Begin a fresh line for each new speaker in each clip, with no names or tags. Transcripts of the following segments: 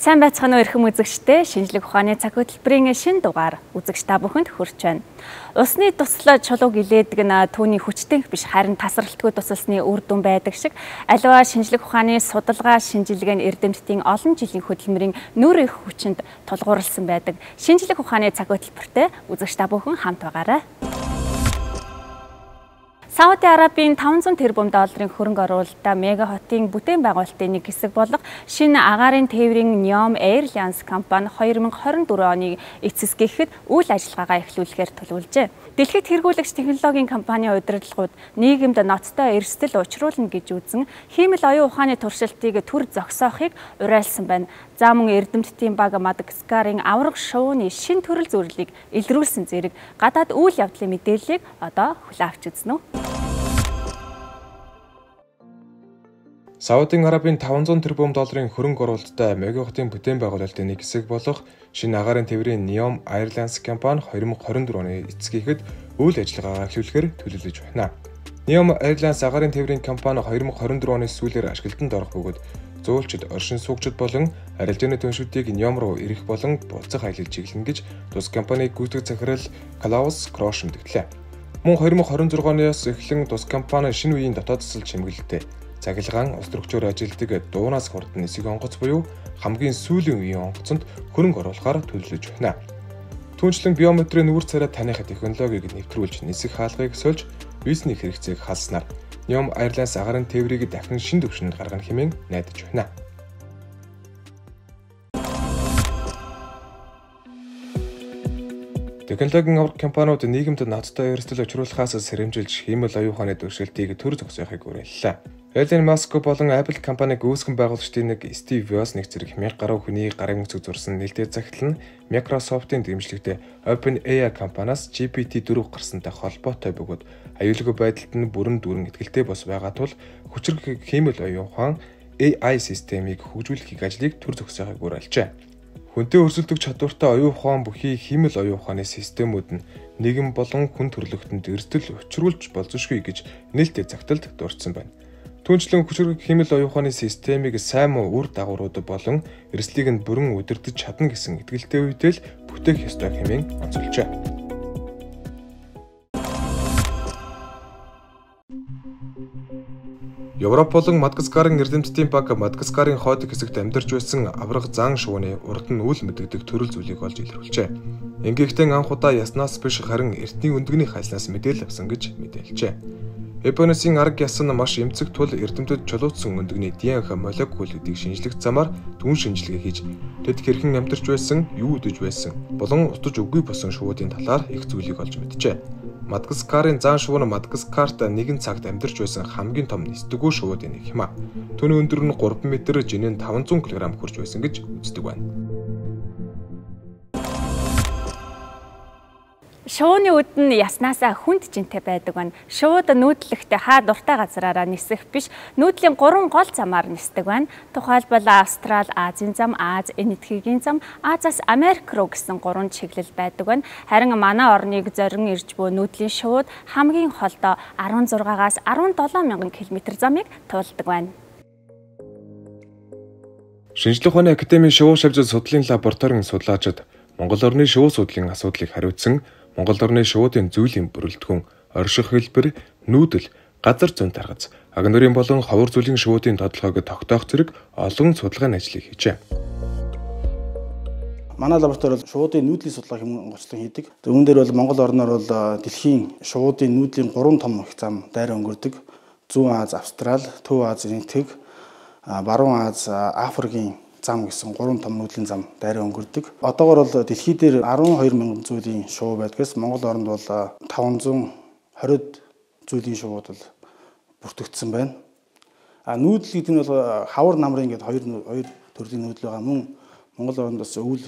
Сайн байцгаана уу эрхэм үзэгчдээ, шинжлэх ухааны цаг хөтөлбөрийн шинэ дугаар үзэгч та бүхэнд хүрч байна. Усны туслал чулууг илээдэг нь түүний хүчтэнх биш харин тасралтгүй тусалсны үр дүн байдаг шиг аливаа шинжлэх ухааны судалгаа шинжилгээ нь эрдэмтдийн олон жилийн хөдөлмөрийн нөр их хүчинд тулгуурласан байдаг. Шинжлэх ухааны цаг хөтөлбөртэй үзэгч та бүхэн хамт байгаарай. Сауди Арабын 500 тэрбум долларын хөрөнгө оруулалтаа мега хотын бүтээн байгуулалтын нэг хэсэг болох шинэ агаарын тээврийн NEOM Airlines компани 2024 оны эцэсгэхэд үйл ажиллагаагаа эхлүүлэхээр төлөвлөжээ. Дэлхийд хэрэггүйгч технологийн компанийн удирдлагууд нийгэмд ноцтой эрсдэл учруулна гэж үзэн хиймэл оюун ухааны туршилтыг төр зогсоохыг уриалсан байна. За мөн эрдэмтдийн баг Мадагаскарын аварга шувууны шин төрөл зөвлөлийг илрүүлсэн зэрэг гадаад үйл явдлын мэдээллийг одоо хүлээн авч үзнэ үү?
Сауди Арабын 500 тэрбум долларын хөрөнгө оруулалттай мега хотын бүтээн байгуулалтын нэг хэсэг болох шинэ агаарын тээврийн NEOM Airlines компани 2024 оны эцэсгэхэд үйл ажиллагаагаа эхлүүлэхээр төлөвлөж байна. NEOM Airlines агаарын тээврийн компани 2024 оны сүүлээр ашиглалтанд орох бөгөөд зөөлчд, оршин суугчид болон арилжааны түншүүдийг NEOM руу ирэх болон буцах аялал чиглэнэ гэж тус компаниг гүйцэтгэх захирал Клаус Крош мэдгэлээ. Мөн 2026 оноос эхлэн тус компани шинэ үеийн дотоод засал чимэглэлтэй цахилгаан улс төрөгчөөр ажилтдаг дуунаас хурдан нисэх онгоц буюу хамгийн сүүлийн үеийн онгоцонд хөрөнгө оруулахаар төлөвлөж байна. Түүнчлэн биометрийн нүүр царай таних технологиг нэвтрүүлж нисэх хаалгыг сольж визний хэрэгцээг халснаар NEOM Airlines агаарын тээврийг дахин шинэ түвшинд гаргах хэмээн найдаж байна. Технологийн аварга компаниуд нийгэмд ноцтой эрсдэл учруулахаас сэрэмжилж хиймэл оюун ухааны туршилтыг төр зогсоохыг уриаллаа. Elon Musk болон Apple компаниг үүсгэн байгуулагчдын нэг Steve Jobs нэг зэрэг 1000 гаруй хүний гарын үсэг зурсан нэлээд захидал нь Microsoft-ийн дэмжлэгтэй OpenAI компаниас GPT-4 гарсантай холбоотой бөгөөд аюулгүй байдалд нь бүрэн дүүрэн итгэлтэй бос байгаа тул хүчрэг хиймэл оюун ухаан AI системийг хөгжүүлэх ажлыг төр зогсоохыг уриалжээ. Хүнтэй өрсөлдөх чадвартай оюун ухаан бүхий хиймэл оюун ухааны системүүд нь нийгэм болон хүн төрөлхтөнд эрсдэл учруулж болзошгүй гэж нээлттэй загталд дурдсан байна. Түүнчлэн хүчрэг хиймэл оюун ухааны системийг сайн муу үр дагаврууд болон эрсдлийг нь бүрэн удирдах чадна гэсэн итгэлтэй үедээ л бүтээх ёстой хэмээн онцолжээ. Европ болон Мадагаскарын эрдэмтдийн баг Мадагаскарын хойд хэсэгт амьдарч байсан аварга зан шувууны урд нь үл мэдэгдэх төрөл зүйлийг олж илрүүлжээ. Ингэхдээ анх удаа яснаас биш харин эртний өндөгний хайснаас мэдээлэл авсан гэж мэдээлжээ. Японысын арга ясан маш эмцэг тул эрдэмтэд чулуутсан өндөгний ДНХ молекулуудыг шинжлэх замаар түн шинжилгээ хийж тэд хэрхэн амьдарч байсан, юу үдэж байсан, болон утаж үгүй болсон шувуудын талаар их зүйлийг олж мэджээ. Мадагаскарын зан шувуу нь Мадагаскарт нэгэн цагт амьдарч байсан хамгийн том нисдэггүй шувуудын нэг юм а. Түүний өндөр нь 3 м, жинээ нь 500 кг хүрч байсан гэж үздэг байна.
Шувууны үд нь яснаасаа хүнд жинтэй байдаг байна. Шувууд нүүдлэхдээ хаа дуртай газраараа нисэх биш, нүүдлийн 3 гол замаар нисдэг байна. Тухайлбал Австрал, Азийн зам, Аз, Энэтхэгийн зам, Азаас Америк руу гэсэн 3 чиглэл байдаг байна. Харин манай орныг зорин ирж буй нүүдлийн шувууд хамгийн холдоо 16-аас 17 мянган км замыг туулдаг байна.
Шинжлэх ухааны академийн шувуу шавьжил судлалын лабораторийн судлаачид Монгол орны шувуу судлалын асуудлыг хариуцсан Монгол орны шувуудын зүйлийн бүрэлдэхүүн, орших хэлбэр, нүүдэл, газар зүйн таргац, агнуурын болон ховор зүйлийн шувуудын тодорхойг тогтоох зэрэг олон судалгааны ажлыг хийжээ.
Манай лаборатори бол шувуудын нүүдлийн судалгаа хэм онцлог хийдэг. Үүн дээр бол Монгол орноор бол дэлхийн шувуудын нүүдлийн 3 том их зам дайраа өнгөрдөг. Зүүн Аз, Австрал, Төв Аз, Энэтхэг, Баруун Аз, Африкийн зам гэсэн 3 том нүүдлийн зам дайраа өнгөрдөг. Одоогоор бол дэлхий дээр 12 мянган зүйлийн шувуу байдгаас Монгол орнд бол 520 зүйлийн шувууд бол бүртгэгдсэн байна. Нүүдэл гэдэг нь бол хавар намрын гэдэг хоёр төрлийн нүүдэл байгаа. Мөн Монгол орнд бас өвөл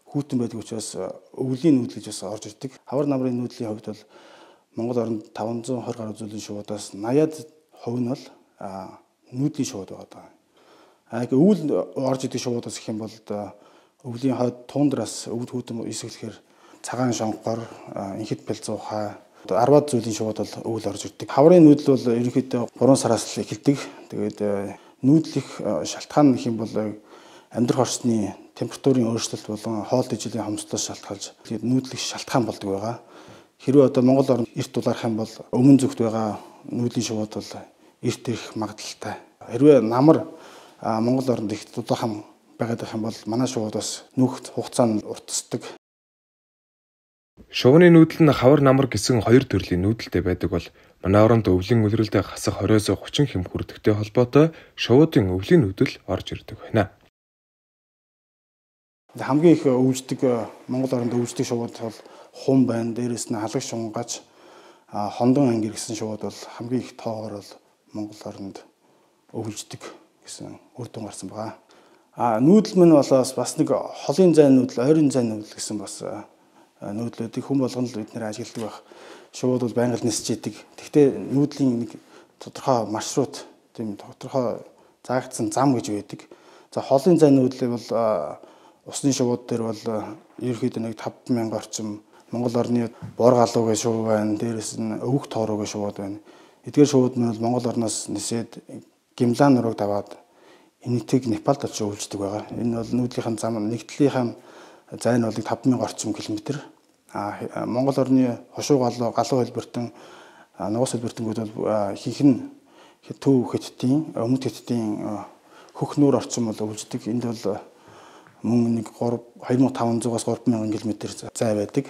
хүүтэн байдаг учраас өвлийн нүүдэл гэж бас орж ирдэг. Хавар намрын нүүдлийн хувьд бол Монгол орнд 520 гаруй зүйлийн шувуудаас 80% нь бол нүүдлийн шувууд байгаа. Өвөл орж идэг шувуудаас гэх юм бол өвлийн хойд тундраас өвд хүүтэн эсэглэхээр цагаан шонхор, инхэд бэлзуухай 10 зүйлийн шувууд бол өвөл орж ирдэг. Хаврын нүүдэл бол ерөнхийдөө 3 сараас л эхэлдэг. Тэгээд нүүдлэх шалтгаан гэх юм бол амьдрах орчны температурын өөрчлөлт болон хоол ижилийн хомсдолоос шалтгаалж тэгээд нүүдлэх шалтгаан болдог байгаа. Хэрвээ одоо Монгол орнд эрт улаарах юм бол өмнө зүгт байгаа нүүдлийн шувууд бол эрт ирэх магадлалтай. Хэрвээ намар Монгол орнд их дулаахан байгаад байх юм бол манай шувууд бас нүүх хугацаанд уртасдаг.
Шувууны нүүдэл нь хавар намар гэсэн хоёр төрлийн нүүдэлтэй байдаг бол манай оронд өвлийн үлрэлдээ хасах 20-30 хэм хүрдэгтэй холбоотой шувуудын өвлийн нүүдэл орж ирдэг байна.
Хамгийн их өвждөг Монгол оронд өвждөг шувууд бол хум байна. Дээрээс нь халагш шунгач, хондон ангир гэсэн шувууд бол хамгийн их тоогоор бол Монгол оронд өвждөг гэсэн үр дүн гарсан байгаа. Нүүдэл мань болоос бас нэг холын зайн нүүдэл, ойрын зайн нүүдэл гэсэн бас нүүдлүүдийг хүн болгоно л бид нэр ажигладаг байх. Шувууд бол байнга нисэж идэг. Гэхдээ нүүдлийн нэг тодорхой маршрут, тийм тодорхой заагдсан зам гэж байдаг. За холын зайн нүүдлийг бол усны шувууд дээр бол ерөөхдөө нэг 5000 орчим Монгол орны бор галуугийн шувуу байна. Дээрээс нь өвөг тоороогийн шувууд байна. Эдгээр шувууд нь бол Монгол орноос нисээд Гимлан нурууг даваад энэтхэг Непалд очиж өвлждөг байгаа. Энэ бол нүүдлийнхэн зам нэгдлийнхэн зайн бол 5000 орчим километр. Монгол орны хошуу галуу хэлбэртэн нугас хэлбэртэнгүүд бол ихэнх нь төв хэттийн өмнөд хэттийн хөх нүүр орчим бол өвлждөг. Энд бол мөн нэг 2500-аас 3000 км зай байдаг.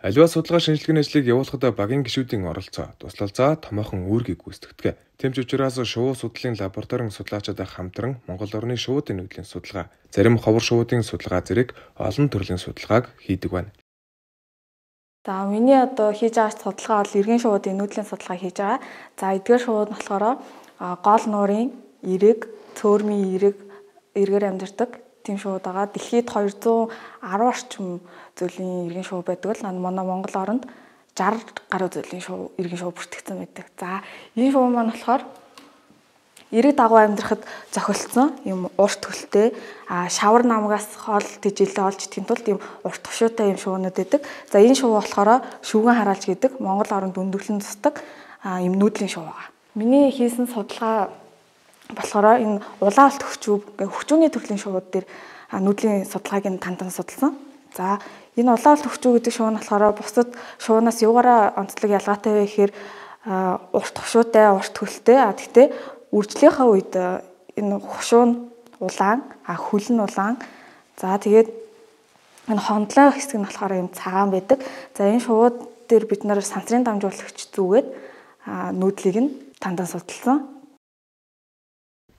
Аливаа судалгаа шинжилгээний ажлыг явуулахад багийн гишүүдийн оролцоо, туслалцаа томоохон үүргийг гүйцэтгэдэг. Тэмч учраас шувуу судлалын лабораторийн судлаачид хамтран Монгол орны шувуудын нүүдлийн судалгаа, зарим ховор шувуудын судалгаа зэрэг олон төрлийн судалгааг хийдэг байна.
За миний одоо хийж байгаа судалгаа бол иргэн шувуудын нүүдлийн судалгаа хийж байгаа. За эдгээр шувууд нь болохоор гол нуурын эрэг, цөөрмийн эргээр амьдардаг тийм шувууд байгаа. Дэлхийд 210 орчим зүйлийн иргэн шувуу байдаг л манай Монгол оронд 60 гаруй зүйлийн иргэн шувуу бүртгэгдсэн байдаг. За энэ шувуу маань болохоор эрэг дагуу амьдрахад зохицсон юм урт хөлтэй шавар намгаас хоол тэжээлээ олж идэхин тулд юм урт тушуутай юм шувуунууд байдаг. За энэ шувуу болохоор шүүгэн хараалж гэдэг Монгол оронд өндөрлөн тусдаг юм нүүдлийн шувуу байгаа. Миний хийсэн судалгаа болохоор энэ улаан алт хөгжүүний төрлийн шувууд дээр нүүдлийн судалгааг нь тандан судалсан. За энэ улаан алт хөгжүү гэдэг шувуу нь болохоор бусад шувуунаас юугаараа онцлог ялгаатай вэ гэхээр урт хушуутай, урт хөлтэй. Гэхдээ үржлийнхаа үед энэ хушуу нь улаан, хөл нь улаан. За тэгээд энэ хондлоо хэсэг нь болохоор юм цагаан байдаг. За энэ шувууд дээр бид нар сансрын дамжуулагч зүгээд нүүдлийг нь тандан судалсан.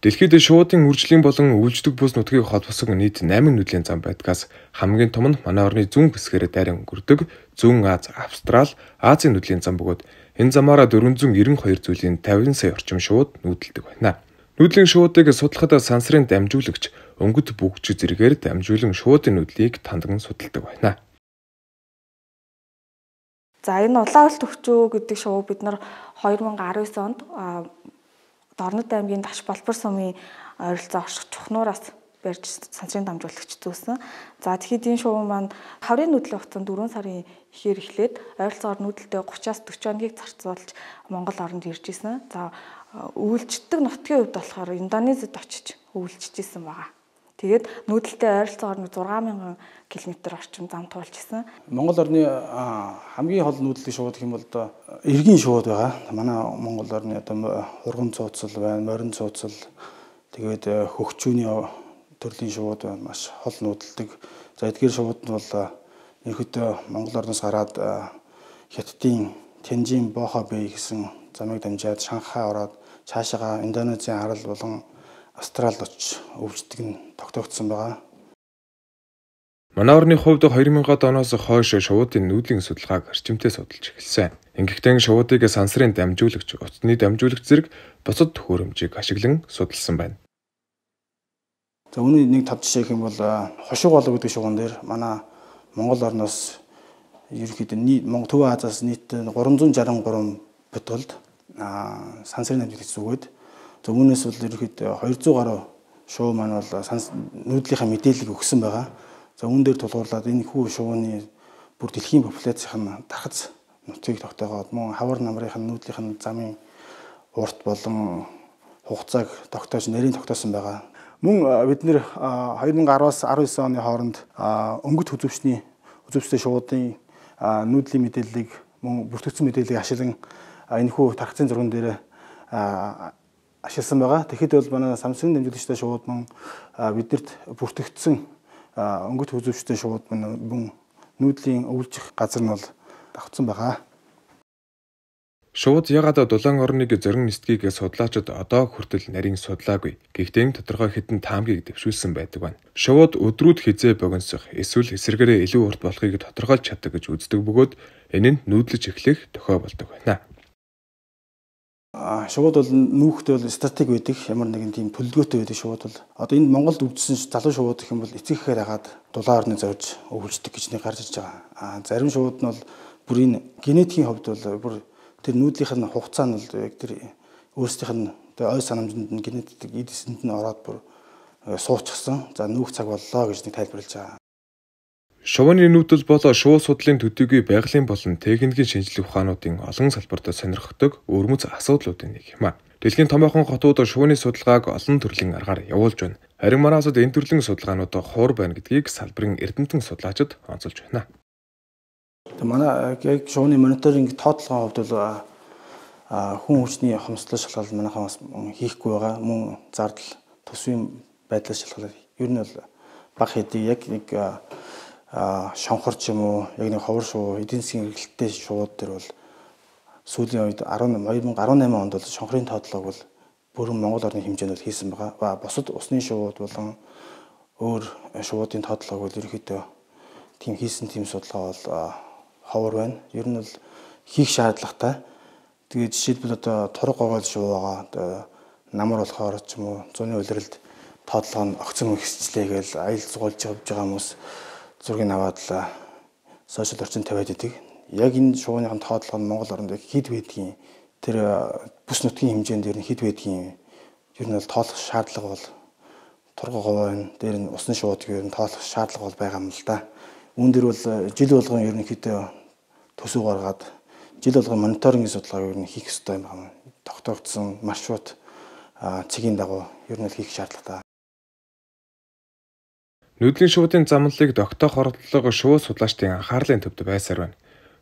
Дэлхийд шуудын үржлийн болон өвлждөг бүс нутгийг холбосон нийт 8 нүүдлийн зам байдгаас хамгийн том нь манай орны зүүн хэсгээр дайран өнгөрдөг Зүүн Аз, Австрал, Азийн нүүдлийн зам бөгөөд энэ замаараа 492 зүйлийн 50 сая орчим шууд нүүдэлдэг байна. Нүүдлийн шуудыг судлахад сансрын дамжуулагч өнгөт бүгж зэрэгээр дамжуулан шуудын нүүдлийг тандан судалдаг байна.
За энэ улаан алт хөгжөө гэдэг шувуу бид нар 2019 онд Дорнод аймгийн Дагш Болбор сумын ойролцоо орших чухнуураас барьж сансрын дамжуулагч зүүсэн. За тэгэхэд энэ шувуу маань хаврын нүүдлийн хугацаанд 4 сарын ихээр эхлээд ойролцоогоор нүүдэлтэй 30-аас 40 хоногийг зарцуулж Монгол оронд ирж исэн. За өвлждөг нутгийн хувьд болохоор Индонезид очиж өвлжж исэн байгаа. Тэгээд нүүдэлтэй ойролцоогоор 6000 км орчим зам туулж исэн.
Монгол орны хамгийн хол нүүдлийн шууд гэх юм бол одоо эргийн шууд байгаа. Манай Монгол орны одоо хурган цууцал байна, морин цууцал, тэгээд хөгчүүний төрлийн шууд байна. Маш хол нүүдэлдэг. За эдгээр шууд нь бол ерөөдөө Монгол орноос гараад Хятадын Тянжин Бохо Бэй гэсэн замыг дамжаад Шанхай ороод цаашаага Индонезийн арал болон Австралид очиж өвчтөг нь тогтоогдсон байгаа.
Манай орны хувьд 2000-ад оноос хойш шуудын нүүдлийн судалгааг орчимтэй судалж эхэлсэн. Ингэхдээ шуудыг сансрын дамжуулагч, утасны дамжуулагч зэрэг бусад төхөөрөмжийг ашиглан судалсан байна.
За үүний нэг тав жишээ гэх юм бол хошуу голоо гэдэг шугуун дээр манай Монгол орноос ерөнхийдөө Төв Азиас нийт 363 бодголд сансрын дамжуулагч зүгээд за үүнээс бол ерөнхийдөө 200 гаруй шувуу маань бол нүүдлийнхаа мэдээллийг өгсөн байгаа. За үүн дээр тулгуурлаад энэ хүү шувууны бүр дэлхийн популяцийн дархаз нутгийг тогтоогоод мөн хавар намрын нүүдлийнх нь замын урт болон хугацааг тогтоож нэрийг тогтоосон байгаа. Мөн бид нэр 2010-аас 19 оны хооронд өнгөт үзүүчтэй шуудын нүүдлийн мэдээллийг мөн бүртгэгдсэн мэдээллийг ашиглан энэхүү тархацын зурган дээр ашигласан байгаа. Тэгэхэд бол манай Самсунгийн дамжуулагчтай шууд мөн биднэрт бүртгэгдсэн өнгөт үзүүчтэй шууд мөн нүүдлийн өвлжих газар нь бол давхцсан байгаа.
Шууд ягаад дулаан орныг зорин нисдгийг судлаачид одоо хүртэл нарийн судлаагүй. Гэхдээ тодорхой хэдэн таамгийг дэвшүүлсэн байдаг байна. Шууд өдрүүд хизээ богиносох эсвэл эсэргээрээ илүү урт болохыг тодорхойлж чаддаг гэж үздэг бөгөөд энэ нь нүүдлэж эхлэх тохиол болдог байна.
Шууд бол нүүхтэй бол стратеги байдаг. Ямар нэгэн тийм төлөвлөгөөтэй байдаг шууд бол. Одоо энд Монголд өвдсөн залуу шууд гэх юм бол эцэгхээр хагаад дулаан орны зорж өвлждөг гэж нэг гарч иж байгаа. Зарим шууд нь бол бүрийн генетикийн хувьд бол бүр тэр нүүдлийнх нь хугацаа нь бол яг тэр өөрсдийнх нь ой санамжинд нь генетик эдэсэнд нь ороод бүр суучсан. За нүүх цаг боллоо гэж нэг тайлбарлаж байгаа.
Шувууны нүүдэл бол шувуу судлалын төдийгүй байгалийн болон техникийн шинжилгээ ухаануудын олон салбарт сонирхдог өрмөц асуудлуудын нэг юм а. Дэлхийн томоохон хотууд шувууны судалгааг олон төрлийн аргаар явуулж байна. Харин манай улсад энэ төрлийн судалгаанууд хуур байна гэдгийг салбарын эрдэмтэн судлаачид онцолж байна.
Манай яг шувууны мониторинг тоотлогын хувьд бол хүн хүчний хомсдол шалгалт манайхаас хийхгүй байгаа. Мөн зардал төсвийн байдлаас шалгалт ер нь бол бага хэдий яг нэг шонхор ч юм уу яг нэг ховор шувуу эдийн засгийн эргэлттэй шувууд төр бол сүүлийн үед 2018 онд бол шонхрын тоотлогыг бол бүрэн Монгол орны хэмжээнд хийсэн байгаа. Ба бусад усны шувууд болон өөр шувуудын тоотлогыг бол ерөнхийдөө тийм хийсэн тийм судалгаа бол ховор байна. Ер нь бол хийх шаардлагатай. Тэгээд жишээлбэл одоо турга гогоол шувуугаа одоо намар болохоор ч юм уу зуны улиралд тоотлого нь огцон ихсчлээ гэж аял зугуулж явж байгаа хүмүүс зургийг аваад л сошиал орчинд тавиад идэг. Яг энэ шувууны тоотлого нь Монгол оронд хэд байдгийг тэр бүс нутгийн хэмжээнд ер нь хэд байдгийг ер нь бол тоолох шаардлага бол турга говийн дээр нь усны шууд ер нь тоолох шаардлага бол байгаа юм л да. Үүн дээр бол жил болгон ерөнхийдөө төсөв гаргаад жил болгон мониторингийн судалгааг ер нь хийх ёстой юм байна. Тогтоогдсон маршрут цэгийн дагуу ер нь хийх шаардлагатай.
Нүүдлийн шуудын замналыг тогтоох оролдлого шувуу судлаачдын анхаарлын төвд байсаар байна.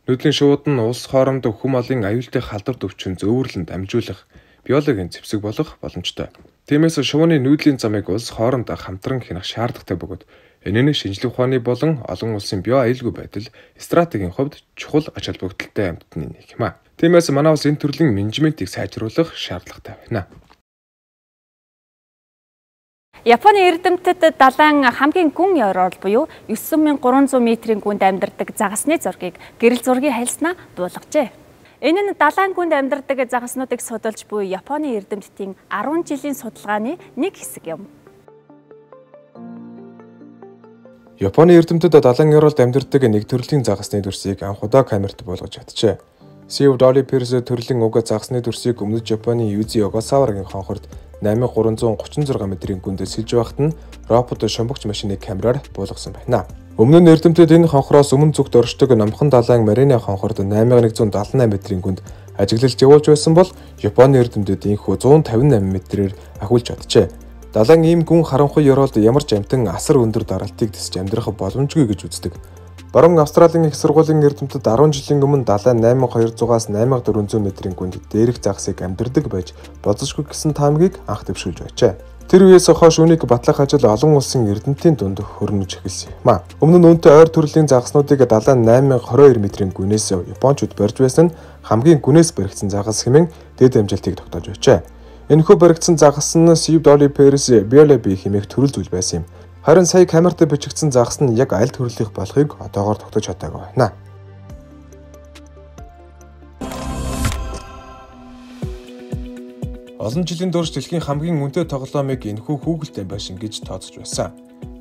Нүүдлийн шууд нь улс хоорондоо хүм олон аюултай халдвар өвчин зөөвөрлөн дамжуулах биологийн зэвсэг болох боломжтой. Тиймээс шувууны нүүдлийн замыг улс хоорондоо хамтран хянах шаардлагатай бөгөөд энэ нь шинжлэх ухааны болон олон улсын био аюулгүй байдал стратегийн хувьд чухал ач холбогдолтой амьтны нэг юм а. Тиймээс манай улс энэ төрлийн менежментийг сайжруулах шаардлагатай байна.
Японы эрдэмтэд далайн хамгийн гүн ёроол буюу 9300 метрийн гүнд амьдардаг загасны зургийг гэрэл зургийн хальснаа дуулгажээ. Энэ нь далайн гүнд амьдардаг загаснуудыг судалж буй Японы эрдэмтдийн 10 жилийн судалгааны нэг хэсэг юм.
Японы эрдэмтэд далайн ёроолд амьдардаг нэг төрлийн загасны дүрсийг анхудаа камерт буулгаж чаджээ. Сив Долли Перс төрлийн уг загасны дүрсийг өмнөд Японы Юзи Огасаварагийн хонхорд 8336 метрийн гүндээ сэлж байхад нь робот шумбагч машины камераар буулгасан байна. Өмнө нь эрдэмтэд энэ хонхороос өмнө зүгт оршдог номхон далайн Марины хонхорд 8178 метрийн гүнд ажиглалж явуулж байсан бол Японы эрдэмтэд инхүү 158 метрээр ахиулж чаджээ. Далайн ийм гүн харанхуй ёроолд ямар ч амтан асар өндөр даралтыг тэсж амьдрах боломжгүй гэж үздэг. Баруун Австралийн их сургуулийн эрдэмтэд 10 жилийн өмнө далайн 8200-аас 8400 метрийн гүнд дээрх загсыг амьдардаг байж болзошгүй гэсэн таамгийг анх дэвшүүлж байжээ. Тэр үеэс хойш үүнийг батлах ажил олон улсын эрдэмтдийн дунд хөрнөж эхэлсэн юм а. Өмнө нь үүнтэй ойр төрлийн загснуудыг далайн 8022 метрийн гүнээс Япончууд барьж байсан нь хамгийн гүнээс баригдсан загас хэмээн дэд амжилтыг тогтоож байжээ. Энэхүү баригдсан загас нь Сив Долли Перс Биолеби хэмээх төрөл зүйл байсан юм. Харин сая камерт бичигдсэн загас нь яг аль төрлийнх болохыг одоогоор тогтоож чадаагүй байна. Олон жилийн турш дэлхийн хамгийн үнэтэй тоглоомыг энэхүү хүүхэлдэйн байшин гэж тооцож байсан.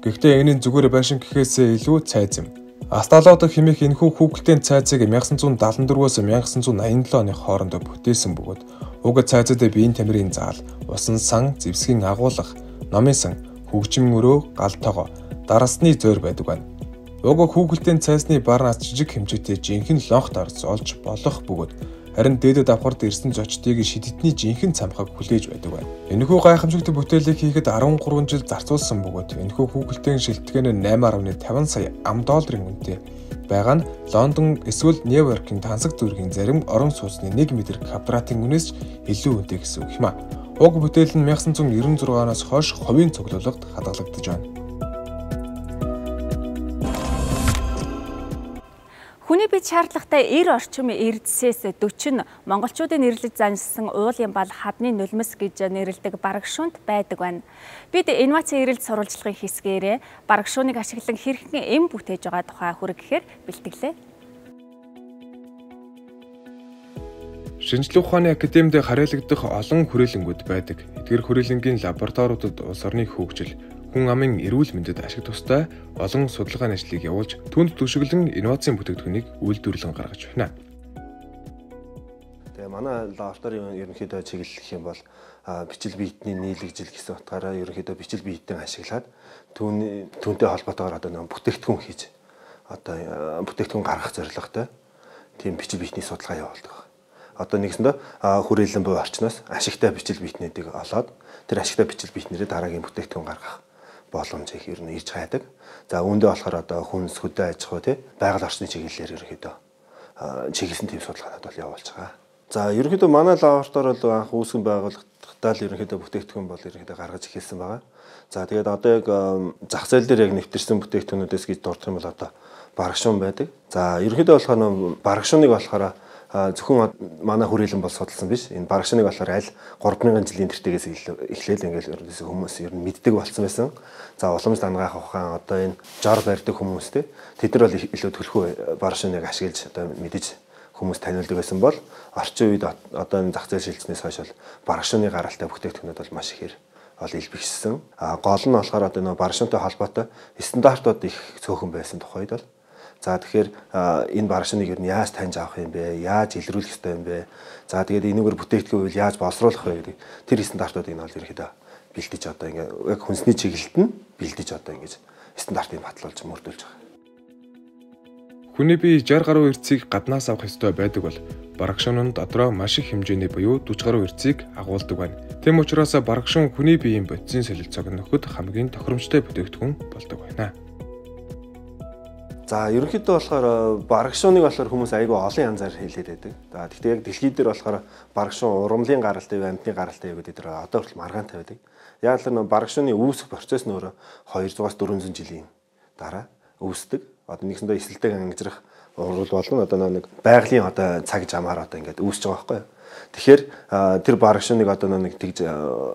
Гэхдээ энэ нь зүгээр байшин гэхээсээ илүү цайз юм. Асталот хэмээх энэхүү хүүхэлдэйн цайзыг 1974-өөс 1987 оны хооронд бүтээсэн бөгөөд уг цайзад биеийн тамирын заал, усан сан, зэвсгийн агуулга, номын сан, хөгжим өрөө, гал тогоо, дарасны зойр байдаг байна. Уг хүүхэлдэйн цайзны бар нас жижиг хэмжээтэй жинхэнэ лонх дарс олж болох бөгөөд харин дээдэд давхарт ирсэн зочдыг шидэдний жинхэнэ цамхаг хүлээж байдаг байна. Энэхүү гайхамшигт бүтээлийг хийхэд 13 жил зарцуулсан бөгөөд энэхүү хүүхэлдэйн шилтгэн нь 8.50 сая $50 үнэтэй байгаа нь Лондон эсвэл Нью-Йоркийн тансаг дүүргийн зарим орон сууцны 1 метр квадратын үнээс илүү үнэтэй гэсэн үг юм а. Уг бүтээл нь 1996-аас хойш хувийн цуглуулгад хадгалагдаж байна.
Хүний бид шаардлагатай 90 орчим эрдэсээс 40 нь монголчуудын нэрлэж заншсан уулын бал хадны нулимс гэж нэрлэдэг барагшуунд байдаг байна. Бид инновацийн эрэлт сурвалжлагын хэсгээрээ барагшууныг ашиглан хэрхэн эм бүтээж байгаа тухай хүргэхээр бэлтгэлээ.
Шинжлэх ухааны академид харьяалагдах олон хүрээлэнгүүд байдаг. Эдгээр хүрээлэнгийн лабораториудад улс орны хөгжил, хүн амын эрүүл мэндэд ашиг тустай олон судалгааны ажлыг явуулж түнд түшиглэн инновацийн бүтээгдэхүүнийг үйлдвэрлэн гаргаж байна.
Тэгээ манай лабораторийн ерөнхийдөө чиглэл гэх юм бол бичил биетний нийлэгжил гэсэн утгаараа ерөнхийдөө бичил биетэн ашиглаад түүнтэй холбоотойгоор нэг бүтээгдэхүүн хийж бүтээгдэхүүн гаргах зорилготой тийм бичил биетний судалгаа явуулдаг. Нэгсэндээ хүрээлэн буй орчноос ашигтай бичил биетнүүдийг олоод тэр ашигтай бичил биетнэрээ дараагийн бүтээгдэхүүн гаргах боломжийг ер нь ирж хайдаг. За үүндээ болохоор хүнс хөдөө аж ахуй байгаль орчны чиглэлээр ерөнхийдөө чиглэсэн тийм судалгаанууд бол явуулж байгаа. За ерөнхийдөө манай лаборатори бол анх үүсгэн байгуулагдтал ерөнхийдөө бүтээгдэхүүн бол ерөнхийдөө гаргаж эхэлсэн байгаа. За тэгээд яг зах зээл дээр яг нэвтэрсэн бүтээгдэхүүнүүдээс гэж дурдах юм бол барагшуун байдаг. За ерөнхийдөө болохоор барагшууныг болохоор зөвхөн манай хүрээлэн бол судалсан биш. Энэ барагшааныг болохоор аль 3000 жилийн тэртегээс эхлээл ингээл ерөнхийдөө хүмүүс ер нь мэддэг болсон байсан. За уламж дангаах ухаан энэ жор барьдаг хүмүүс тэд нар бол илүү төлхөө барагшааныг ашиглаж мэдэж хүмүүс таниулдаг байсан бол орчин үед энэ зах зээл шилжснээс хойш бол барагшааны гаралтай бүтээгдэхүүнүүд бол маш ихээр илбэгшсэн. Гол нь болохоор энэ барагшаантай холбоотой стандартууд их цөөхөн байсан тухайд бол тэгэхээр энэ барагшааныг ер нь яаж таньж авах юм бэ? Яаж илрүүлэх ёстой юм бэ? За тэгээд энэгээр бүтээгдэхүүн үйл яаж боловсруулах вэ гэдэг тэр стандартуудыг нь бол ерөөхдөө бэлдэж яг хүнсний чиглэлд нь бэлдэж ингэж стандартыг батлуулж мөрдүүлж байгаа.
Хүний бие 60 гаруй эрцгийг гаднаас авах ёстой байдаг бол барагшуун нь дотроо маш их хэмжээний буюу 40 гаруй эрцгийг агуулдаг байна. Тэм учраас барагшуун хүний биеийн бодисын солилцоог нөхөд хамгийн тохиромжтой бүтээгдэхүүн болдог байна.
За ерөнхийдөө болохоор барагшууныг болохоор хүмүүс айгүй олон янзаар хэлээд байдаг. За гэхдээ яг дэлхийд дээр болохоор барагшуун урамлын гаралтай, амьтны гаралтай гэдэг дээр одоо хүртэл маргаантай байдаг. Яг л барагшууны үүсэх процесс нь өөрөө 200-аас 400 жилийн дараа үүсдэг. Нэгсэндээ эсэлдэг ангижрах урвал болон нэг байгалийн цаг замаар ингээд үүсэж байгаа байхгүй юу. Тэгэхээр тэр барагшууныг нэг тэгж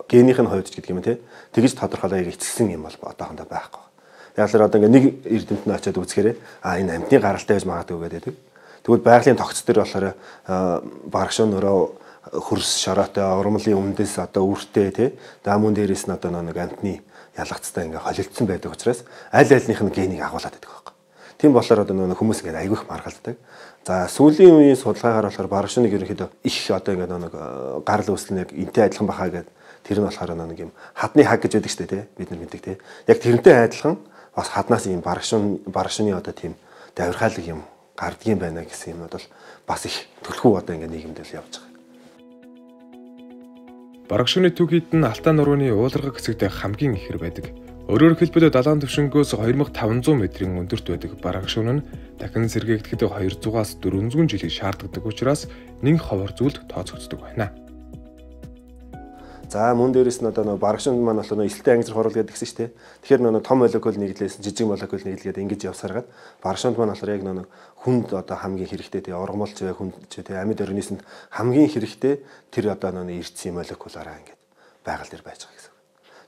генийх нь хувьд гэдэг юм тэгж тодорхойлоо эцэлсэн юм бол одоохондоо байхгүй. Яг л ингээд нэг эрдэмтэд нь очиад үзэхээр энэ амьтны гаралтай байж магадгүй гэдэг. Тэгвэл байгалийн тогтц дээр болохоор барагшуун өөрөө хөрс шороотой урмлын өмнөдөөс үртэй даамун дээрээс нь нэг амьтны ялгацтай ингээд холилдсон байдаг учраас аль альнийх нь генийг агуулад байдаг байхгүй. Тийм болохоор хүмүүс ингээд айгүйх маргалддаг. За сүүлийн үеийн судалгаагаар болохоор барагшууныг ерөнхийдөө их ингээд нэг гарал үүсэл яг энтэй адилхан бахаа гэдэг тэр нь болохоор нэг юм хадны хаг гэж байдаг шүү дээ бид нар мэддэг яг тэрнтэй адилхан бас хаднаас ийм барагшууны тийм давирхайлаг юм гардгийн байна гэсэн юмуд бол бас их төлхөө ингээд нийгэмд л явж байгаа.
Барагшууны түүхийд нь Алтай нурууны ууларга хэсэгт хамгийн ихэр байдаг. Өөрөөр хэлбэл далайн түвшингөөс 2500 метрийн өндөрт байдаг барагшуун нь дахин сэргээгдэхэд 200-аас 400 жилийг шаарддаг учраас нэг ховор зүйлд тооцогддог байна.
За мөн дээрээс нь барагшуунд маань болохоор эсэлтэй ангижрах хурал гэдэг гэсэн шүү дээ. Тэгэхээр том молекул нэглээс жижиг молекул нэглгээд ингэж явсараад барагшуунд маань болохоор яг хүнд хамгийн хэрэгтэй ургамалч бай хүнд амьд организмд хамгийн хэрэгтэй тэр эрдэсийн молекулаараа ингэж байгаль дээр байж байгаа гэсэн.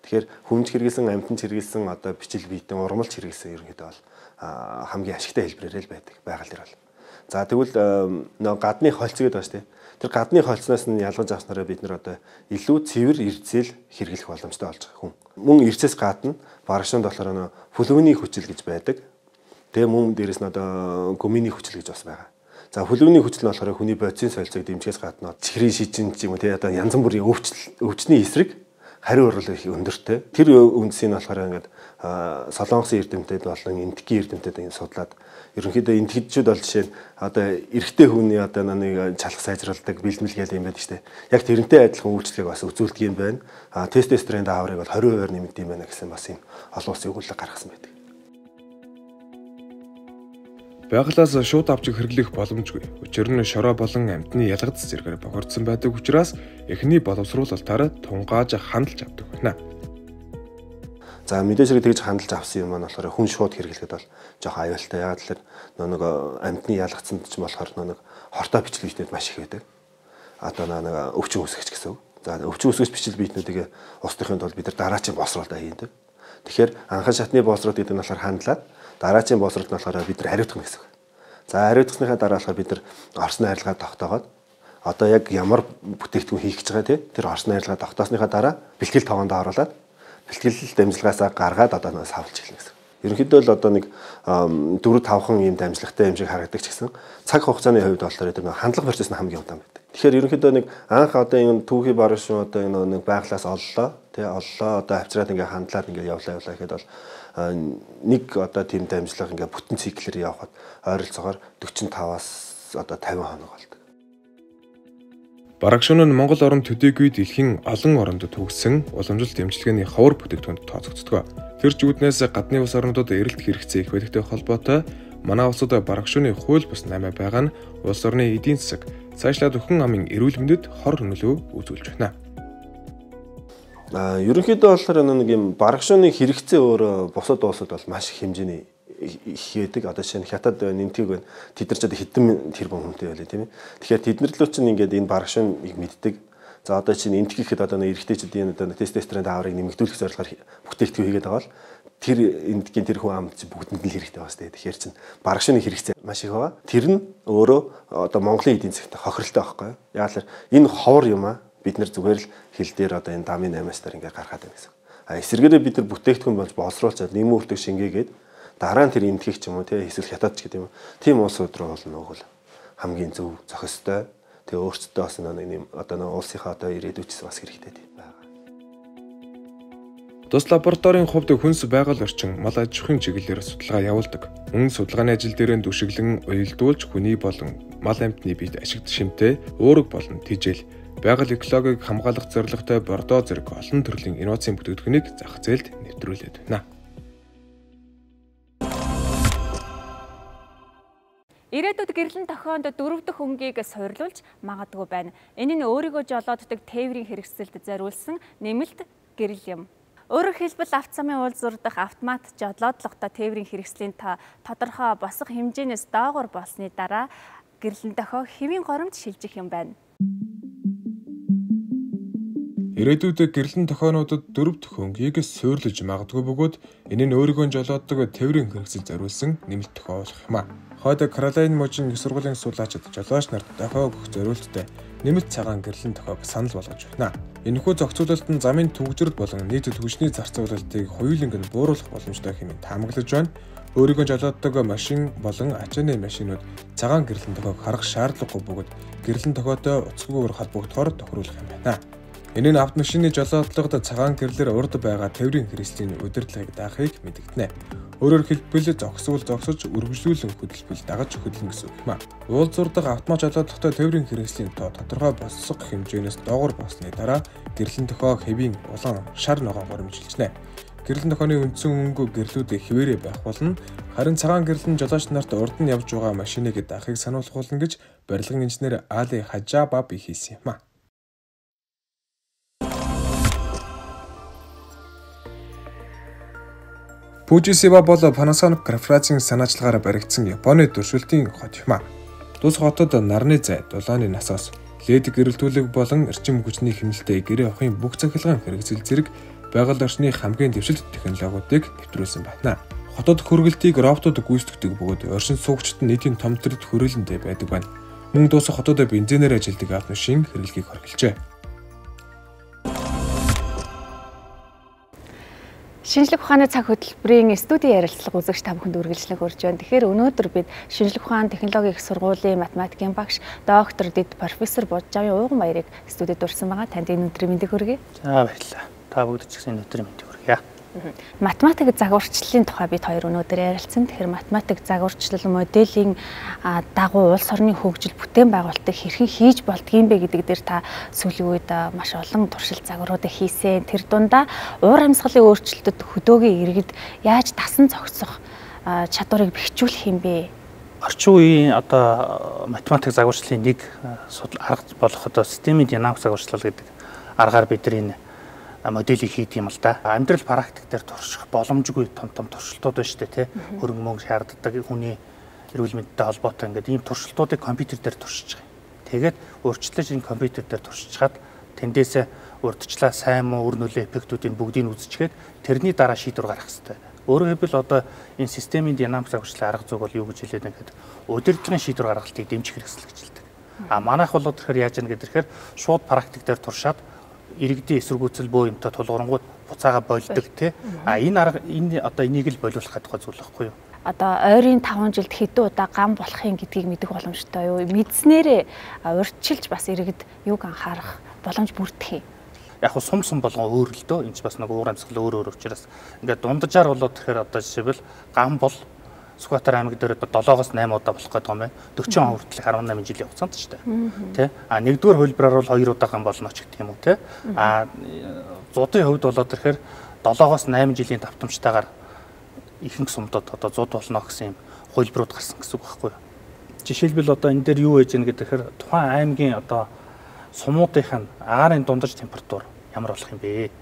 Тэгэхээр хүмж хэрэгэлсэн амьтанд хэрэгэлсэн бичил биетэн ургамалч хэрэгэлсэн ерөнхийдөө бол хамгийн ашигтай хэлбэрээр л байдаг байгаль дээр бол. За тэгвэл гадны холц гэдэг байна шүү дээ. Тэр гадны холцноос нь ялгаж авснараа бид нар илүү цэвэр эрдэсэл хэрэглэх боломжтой болж байгаа хүн. Мөн эрдэсээс гадна барагшуунд болохоор флүвний хүчил гэж байдаг. Тэгээ мөн дээрэс нь гүминий хүчил гэж бас байгаа. За флүвний хүчил нь болохоор хүний бодисын солилцоог дэмжихээс гадна чихрийн шижин ч юм уу янз бүрийн өвчний эсрэг хариу орлого их өндөртэй. Тэр үндсийг нь болохоор ингээд Солонгосын эрдэмтэд болон энтхийн эрдэмтэд ингэ судлаад ерөнхийдөө энтхэдчүүд бол жишээ нь одоо эрэгтэй хүний одоо нэг чалах сайжруулдаг бэлтгэл гэдэг юм байдаг шүү дээ. Яг тэрнтэй адилхан үйлчлэгийг бас үзүүлдэг юм байна. Тестостерон дааврыг бол 20% нэмэгдэх юм байна гэсэн бас юм олон улсын өгүүлэг гаргасан байдаг.
Байгалаас шууд авч хэрэглэх боломжгүй. Учир нь шороо болон амьтны ялгадс зэргээр бохирдсон байдаг учраас эхний боловсруулалтаараа тунгааж хандалж авдаг байна.
За мэдээж хэрэг тэгж хандалж авсан юм маань болохоор хүн шууд хэрэглэхэд бол жоохон аюултай. Яг л нэг амьтны ялгцсанд ч болохоор нэг хортой бичил биетнүүд маш их байдаг. Одоо нэг өвчин үсгэж гэсэн үг. За өвчин үсгэж бичил биетнүүдийг устгахын тулд бид нар дараачийн боловсруулалтаа хийдэг. Тэгэхээр анхан шатны боловсруулалт гэдэг нь болохоор хандлаад дараачийн боловсруулалт нь болохоор бид нар хариуцах гэсэн үг. За хариуцсныхаа дараа болохоор бид нар орсны харилцаа тогтоогоод одоо яг ямар бүтээгдэхүүн хийх гэж байгаа тэр орсны харилцаа тогтоосныхаа дараа бэлтгэл тоогонд оруулаад бэлтгэл дамжлагаасаа гаргаад одоо нэг савлж эхэлнэ гэсэн. Ерөнхийдөө л одоо нэг 4-5хан ийм дамжлагтай юм шиг харагддаг ч гэсэн цаг хугацааны хувьд болохоор тэр нэг хандлага процесс нь хамгийн удаан байдаг. Тэгэхээр ерөнхийдөө нэг анх одоо энэ түүхий баруун одоо нэг байглаас оллоо одоо авчираад ингээ хандлаад ингээ явлаа гэхэд бол нэг одоо тийм дамжлага ингээ бүтэн циклээр явхад ойролцоогоор 45-аас одоо 50 хоног болдог.
Бараг шөнө нь Монгол орон төдийгүй дэлхийн олон оронд төгссөн уламжлалт эмчилгээний ховор бүтээгдэхүүнд тооцогддог. Тэр зүуднээс гадны улс орнуудад эрэлт хэрэгцээ их байдагтай холбоотой манай улсад бараг шөнийн хууль бус 8 байгаа нь улс орны эдийн засаг цаашлаад өхөн амын эрүүл мэндэд хор нөлөө үзүүлж байна.
Ерөнхийдөө болохоор нэг юм бараг шөнийн хэрэгцээ өөр бусад улсад бол маш их хэмжээний хийдэг. Одоо жишээ нь хятад нэмтгийг байна. Тэд нар ч одоо хэдэн тэрбум хүнтэй байлаа тийм ээ. Тэгэхээр тэд нар л ч ингээд энэ барагшиныг мэддэг. За одоо чинь энтх гэхэд одоо нэг эрэгтэйчүүдийн одоо тестостерон дааврыг нэмэгдүүлэх зорилгоор бүтээгдэхүүн хийгээд байгаа бол тэр энтхийн тэр хүн амт бүгдэнд нь л хэрэгтэй байна шүү дээ. Тэгэхээр чинь барагшины хэрэгцээ маш их байгаа. Тэр нь өөрөө одоо Монголын эдийн засагт хохиролтой байхгүй юу? Яг л энэ ховор юм аа. Бид нар зүгээр л хил дээр одоо энэ дамын 8-аар ингээд гаргаад байна гэсэн. Эсвэргээрээ бид нар бүтээгдэхүүн болж боловсруулчаад нэмүүлдэг шингээгээд дараа нь тэр энтхийг ч юм уу тий эсвэл хятад ч гэдэг юм. Тийм улсууд руу бол нөгөө хамгийн зөв зохистой. Тэгээ өөрсдөө бас нэг одоо нэг улсынхаа одоо ирээдүйчс бас хэрэгтэй байна.
Тус лабораторийн хувьд хүнс байгаль орчин мал аж ахуйн чиглэлээр судалгаа явуулдаг. Мөн судалгааны ажил дээр дүшиглэн уялдуулж хүний болон мал амьтны биед ашигт шимтээ, өөрөг болон тижэл, байгаль экологийг хамгаалах зорилготой бордоо зэрэг олон төрлийн инновацийн бүтээгдэхүүнийг зах зээлд нэвтрүүлээд байна.
Ирээдүйд гэрлэн тохионд 4 дахь өнгийг суйрлуулж магадгүй байна. Энэ нь өөрийгөө жолооддаг тээврийн хэрэгсэлд зориулсан нэмэлт гэрэл юм. Өөрөөр хэлбэл авто замын уулзуур дахь автомат жолоодлоготой тээврийн хэрэгслийн тодорхой босго хэмжээнээс доогуур болсны дараа гэрлэн тохио хэвийн горимд шилжих юм байна.
Ирээдүйд гэрлэн тохионуудад 4 дахь өнгийг суйрлуулж магадгүй бөгөөд энэ нь өөрийгөө жолооддог тээврийн хэрэгсэлд зориулсан нэмэлт тохио болох юм а. Хойд Каролайн мужийн их сургуулийн суулаачид жолооч нарт дохио өгөх зориулттай нэмэлт цагаан гэрлэн тохиог санал болгож байна. Энэхүү зохицуулалт нь замын төвөгжрөл болон нийт түвшний зарцуулалтыг хоёуланг нь бууруулах боломжтой хэмээн таамаглаж байна. Өөрийгөө жолооддог машин болон ачааны машинууд цагаан гэрлэн тохиог харах шаардлагагүй бөгөөд гэрлэн тохиотой уцгүйгээр холбогдохоор тохируулах юм байна. Энэ нь автомашины жолоодлогод цагаан гэрлэр урд байгаа тээврийн хэрэгслийн удирдлагыг даахыг мэдэгдэнэ. Өөрөөр хэлбэл зогсож үргэлжлүүлэн хөдөлбөл дагаж хөдлөн гэсэн үг юм а. Уулзуур дахь автомат жолоодлоготой тээврийн хэрэгслийн тоо тодорхой босго хэмжээнээс доогуур болсны дараа гэрлэн тохио хэвийн улаан шар ногоон горимжилжнэ. Гэрлэн тохионы үндсэн өнгө гэрлүүдээ хിവэрэ байх болно. Харин цагаан гэрлэн жолооч нарт урд нь явж байгаа машиныг даахыг сануулгуулна гэж барилгын инженер Али Хажабаби хэлсэн юм а. Фужисива бол Panasonic корпорацийн санаачлагаараа баригдсан Японы туршилтын хот юм а. Тус хотод нарны зай, дулааны насоос, лед гэрэлтүүлэг болон эрчим хүчний хэмнэлтэд гэрээ авахын бүх цахилгаан хэрэгцэл зэрэг байгаль орчны хамгийн дэвшилт технологиудыг нэвтрүүлсэн байна. Хотод хөргөлтийг роботууд гүйцэтгэдэг бөгөөд оршин суугчид нь нийтийн том төрөлд хүрээлэндээ байдаг байна. Мөн дуусах хотод бензинээр ажилладаг автомашин хэрэглэхийг хоригложээ.
Шинжлэх ухааны цаг хөтөлбөрийн студийн ярилцлага үзэгч та бүхэнд үргэлжлэн хүрж байна. Тэгэхээр өнөөдөр бид шинжлэх ухааны технологийн их сургуулийн математикийн багш доктор Дэд профессор Божжавын ууган баярыг студид урьсан байгаа. Танд энэ өдрийн мэндийг хүргэе.
За баярлалаа.
Та бүгд ч гэсэн өнөөдрийн мэндийг хүргье.
Математик загварчлалын тухай бид хоёр өнөөдөр ярилцсан. Тэгэхээр математик загварчлал моделийн дагуу улс орны хөгжил бүтээн байгуулалтыг хэрхэн хийж болдгийм бэ гэдэг дээр та сүүлийн үед маш олон туршилт загваруудыг хийсэн. Тэр дундаа уур амьсгалын өөрчлөлтөд хөдөөгийн иргэд яаж дасан зохицох чадварыг бэхжүүлэх юм бэ?
Орчин үеийн одоо математик загварчлалын нэг арга болох одоо системийн динамик загварчлал гэдэг аргаар бид энэ моделийг хийдэг юм л да. Амьдрал практик дээр турших боломжгүй том туршилтууд байна шүү дээ, тий. Хөрөнгө мөнгө шаарддаг, хүний эрүүл мэндтэй холбоотой ингээд ийм туршилтуудыг компьютер дээр туршиж байгаа. Тэгээд өөрчлөлт энэ компьютер дээр туршичаад тэндээсээ урдчлаа сайн муу үр нөлөө эффектүүдийн бүгдийг үзчихээд тэрний дараа шийдвэр гаргах хэрэгтэй. Өөрөөр хэлбэл одоо энэ системийн динамик загварчлалын арга зүйг бол юу гэж хэлээд ингээд удирдлагын шийдвэр гаргалтыг дэмжих хэрэгсэлгэлдэг. Манайх бол тэгэхээр яаж яана гэхээр шууд практик дээр туршаад иргэдийн эсэргүүцэл бөө юмтай тулгуур буцаага болдог тий. Энэ арга одоо энийг л болиулах гэдэг зүйл байхгүй юу?
Одоо ойрын 5 жилд хэдэн удаа гам болохын гэдгийг мэдэх боломжтой юу? Мэдснээрээ урьдчилж бас иргэд юуг анхаарах боломж бүрдэх юм.
Яг нь сум болгон өөр л дөө. Энд ч бас нэг уур амьсгал өөр учраас ингээд дунджаар болоод тэгэхээр одоо жишээлбэл гам бол Сүхбаатар аймаг дээр 7-8 удаа болох гэдэг юм байна. 40 он хүртэл 18 жилийн хугацаанд ч тий. Нэгдүгээр хөлбраар бол 2 удаа гам болно ч гэх юм уу тий. Зуудын хувьд болоод ирэхээр 7-8 жилийн давтамжтайгаар ихэнх сумдод одоо зуд болно гэсэн юм хөлбрүүд гарсан гэсэн үг байхгүй юу? Жишээлбэл одоо энэ дээр юу байж гэнэ гэхээр тухайн аймгийн одоо сумуудынх нь агаарын дундаж температур ямар болох юм бэ?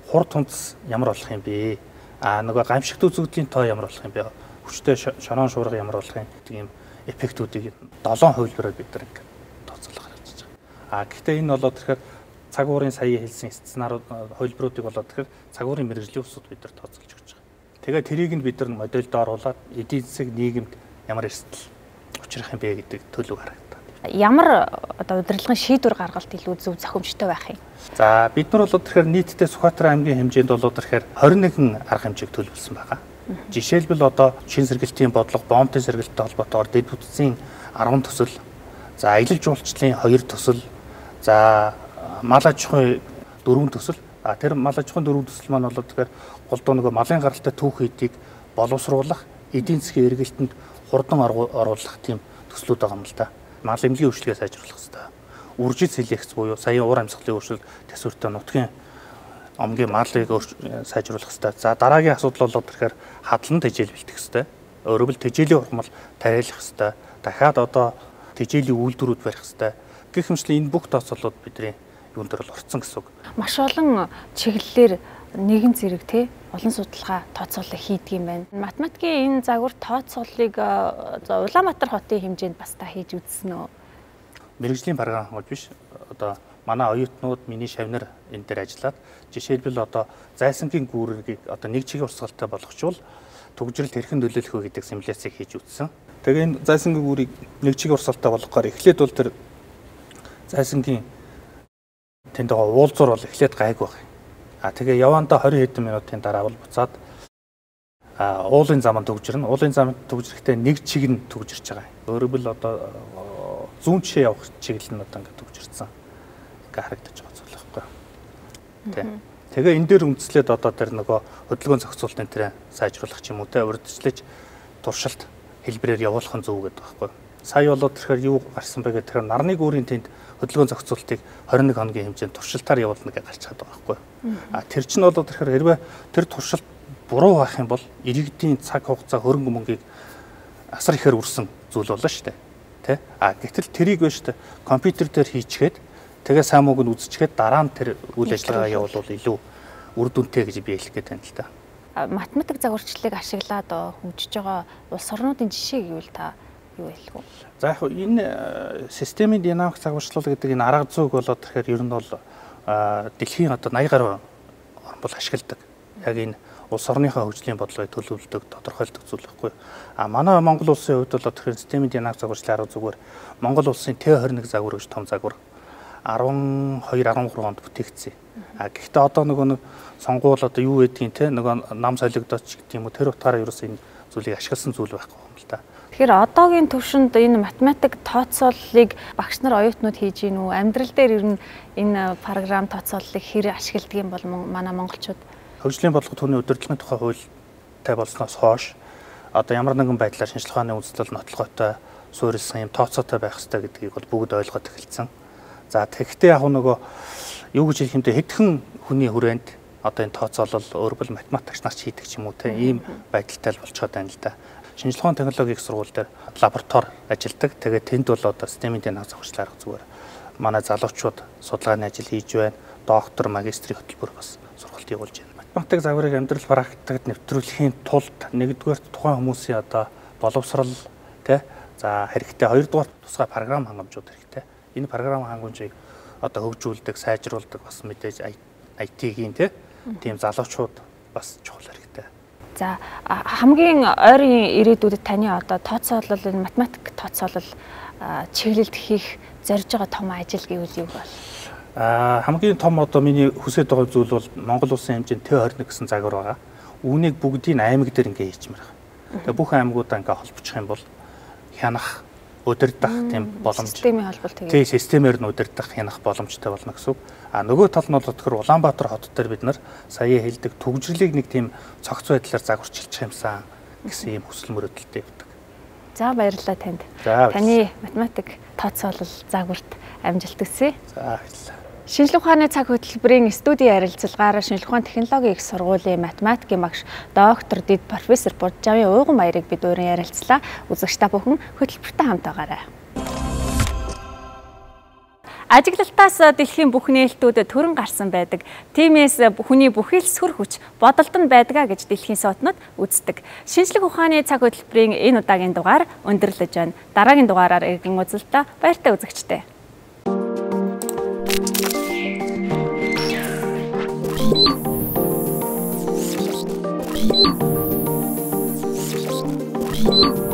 Хурд тунц ямар болох юм бэ? Нөгөө гамшигт үзэгдлийн тоо ямар болох юм бэ? Хүчтэй шорон шуурга ямар болох юм гэдэг юм эффектүүдийг 7 хувилбараар бид нар ингээд тооцоолох гэж байгаа. Гэхдээ энэ болоод тэгэхээр цаг уурын сая хэлсэн сценарууд хувилбаруудыг болоод тэгэхээр цаг уурын мэргэжлийн усуд бид нар тооцоолж өгч байгаа. Тэгээд тэрийг нь бид нар модельд оруулаад эдийн засаг нийгэмд ямар эрсдэл учрах юм бэ гэдэг төлөв харагдаад.
Ямар одоо удирдлагын шийдвэр гаргалт илүү зөв зохимжтой байх юм?
За бид нар болоод тэгэхээр нийтдээ Сүхбаатар аймгийн хэмжээнд болоод тэгэхээр 21 арга хэмжээг төлөвлөсөн байгаа. Жишээлбэл одоо шин сэргэлтийн бодлого, бомбын сэргэлттэй холбоотойгоор дэд бүтцийн 10 төсөл, за аялал жуулчлалын 2 төсөл, за мал аж ахуйн 4 төсөл. Тэр мал аж ахуйн 4 төсөл маань болоод тэгэхээр голдуу нөгөө малын гаралтай түүх хэдийг боловсруулах, эдийн засгийн эргэлтэнд хурдан оруулах тийм төслүүд байгаа юм л да. Мал эмнэлгийн хөгжлөгээ сайжруулах хэрэгтэй. Үржил селекц буюу саяын уур амьсгалын өөрчлөлт төсвөртэй нутгийн омгийн марлыг сайжруулах хэрэгтэй. За дараагийн асуудал болоод тэгэхээр хадлан тэжээл бэлтгэх хэрэгтэй. Өөрөөр хэл тэжээлийн ургамал тариалах хэрэгтэй. Дахиад одоо тэжээлийн үйлдвэрүүд барих хэрэгтэй. Гэх мэтчлэн энэ бүх тооцоололууд бидний юун дээр бол орцсон гэсэн үг.
Маш олон чиглэлээр нэгэн зэрэг тий олон судалгаа тооцоолол хийдэг юм байна. Математикийн энэ загвар тооцооллыг Улаанбаатар хотын хэмжээнд бас та хийж үзсэн үү?
Мэргэжлийн баргаан хангуул биш. Одоо манай оюутнууд миний шавнар энэ дээр ажиллаад жишээлбэл одоо зайсангийн гүүргийг одоо нэг чигийн урсгалтай болгочвол төгжрэлт хэрхэн нөлөөлөх вэ гэдэг симуляцийг хийж үзсэн. Тэгээ энэ зайсангийн гүүрийг нэг чигийн урсгалтай болгохоор эхлээд бол тэр зайсангийн тэнд байгаа уулзуур бол эхлээд гайг баг. Тэгээ явандаа 20 хэдэн минутын дараа бол буцаад уулын заманд төгжрөн. Уулын заманд төгжрэхдээ нэг чиг нь төгжирч байгаа. Өөрөөр хэл одоо зүүн жишээ явах чиглэл нь одоо ингээд төгжирсэн. Ингээ харагдаж байгаа зүйл байхгүй юу. Тэгээ энэ дээр үндэслээд одоо тэр нөгөө хөдөлгөөн зохицуулалтын тэрэ сайжруулах ч юм уу те урьдчилж туршилт хэлбэрээр явуулах нь зөв гэдэг байхгүй юу. Сая болоод тэгэхээр юу гарсан бэ гэхээр нарны гүүрийн тэнд хөдөлгөөн зохицуулалтыг 21 хоногийн хэмжээнд туршилтаар явуулна гэж гарч чаддаг байхгүй юу. Тэр чинь болоод тэгэхээр хэрвээ тэр туршилт буруу байх юм бол иргэдийн цаг хугацаа хөрөнгө мөнгийг асар ихээр үрсэн зүйл болно шүү дээ. Тэ? Гэтэл тэрийг биш шүү дээ. Компьютер дээр хийчихэд тэгээ сайн мууг нь үзчихээд дараа нь тэр үйл ажиллагаа явуулвал илүү үр дүнтэй гэж би хэлэх гээд байна л да.
Математик загварчлалыг ашиглаад хөгжиж байгаа улс орнуудын жишээ гэвэл та юу хэлэх вэ?
За яг энэ системийн динамик загварчлал гэдэг энэ арга зүйг болоод тэгэхээр ер нь бол дэлхийн одоо 80 гаруй орн бол ашигладаг. Яг энэ улс орныхаа хөгжлийн бодлогыг төлөвлөдөг, тодорхойлдог зүйл байхгүй. Манай Монгол улсын хувьд бол тэгэхээр системийн динамик загварчлалын арга зүгээр Монгол улсын Т21 загвар гэж том загвар 12-13 онд бүтээгдсэн. Гэхдээ одоо нөгөө сонгуул одоо юу гэдгийг те нөгөө нам солигдооч гэдэг юм уу тэр утгаараа ерөөсөө энэ зүйлийг ашигласан зүйл байхгүй юм л да.
Тэгэхээр одоогийн төвшөнд энэ математик тооцооллыг багш нар оюутнууд хийж гин үү? Амьдрал дээр ер нь энэ програм тооцооллыг хэр ашигладаг юм бол манай монголчууд?
Хөгжлийн бодлого түүний удирдлагын тухай хуультай болсноос хойш одоо ямар нэгэн байдлаар шинжилгээ ухааны үзэл нотлоготой, суурилсан юм тооцоотой байх хэрэгтэй гэдгийг бол бүгд ойлгоод эхэлсэн. За тэгэхдээ яг нөгөө юу гэж хэлэх юм бэ? Хэдхэн хүний хүрээнд одоо энэ тооцоолол өөрөөр математикч нар хийдэг ч юм уу те ийм байдалтай л болчиход байна л да. Шинжилгээ ухааны технологийн их сургууль дээр лаборатори ажилладаг. Тэгээд тэнд бол одоо системийн дэна зохицол арга зүгээр манай залуучууд судалгааны ажил хийж байна. Доктор, магистрийн хөтөлбөр бас сургалт явуулж байна. Математик загварыг амьдрал практикт нэвтрүүлэхийн тулд нэгдүгээр тухайн хүмүүсийн одоо боловсрал те за хэрэгтэй, хоёрдугаар тусгай програм хангамжууд хэрэгтэй. Энэ програм хангамжийг одоо хөгжүүлдэг, сайжруулдаг бас мэдээж IT-ийн тийм залуучууд бас чухал хэрэгтэй.
За хамгийн ойрын ирээдүйд таны одоо тооцоолол энэ математик тооцоолол чиглэлд хийх зорж байгаа том ажил гэвэл юу бол?
Хамгийн том одоо миний хүсэж байгаа зүйл бол Монгол улсын хэмжээнд Т21 гэсэн загвар байгаа. Үүнийг бүгдийг аймаг дээр ингээ хийчмээр байгаа. Тэгээ бүх аймагуудаа ингээ холбочих юм бол хянах, удирдах тийм боломж.
Системийн холболт тэгээ.
Тийм системээр нь удирдах, хянах боломжтой болно гэсэн үг. Нөгөө тал нь бол тэгэхээр Улаанбаатар хот дээр бид нар сая хэлдэг төгжрлийг нэг тийм цогц байдлаар загварчилчих юмсан гэсэн ийм хүсэл мөрөөдөлтэй явдаг.
За баярлалаа танд. Таны математик тооцоолол загварт амжилт хүсье.
За баярлалаа.
Шинжилгээ ухааны цаг хөтөлбөрийн студийн харилцалгаараа шинжилгээ ухааны технологийн их сургуулийн математикийн багш доктор Дэд профессор Буджавын Уйган Баярыг бид өөрийн ярилцлаа. Үзэгч та бүхэн хөтөлбөртэй хамт байгаарай. Ажиглалтаас дэлхийн бүх нээлтүүд төрөн гарсан байдаг. Тиймээс хүний бүхэл сүр хүч бодолд нь байдгаа гэж дэлхийн суутнууд үздэг. Шинжилгээ ухааны цаг хөтөлбөрийн энэ удаагийн дугаар өндөрлөж байна. Дараагийн дугаараар иргэн уулзалтаа баяртай үзэгчтэй. Thank you.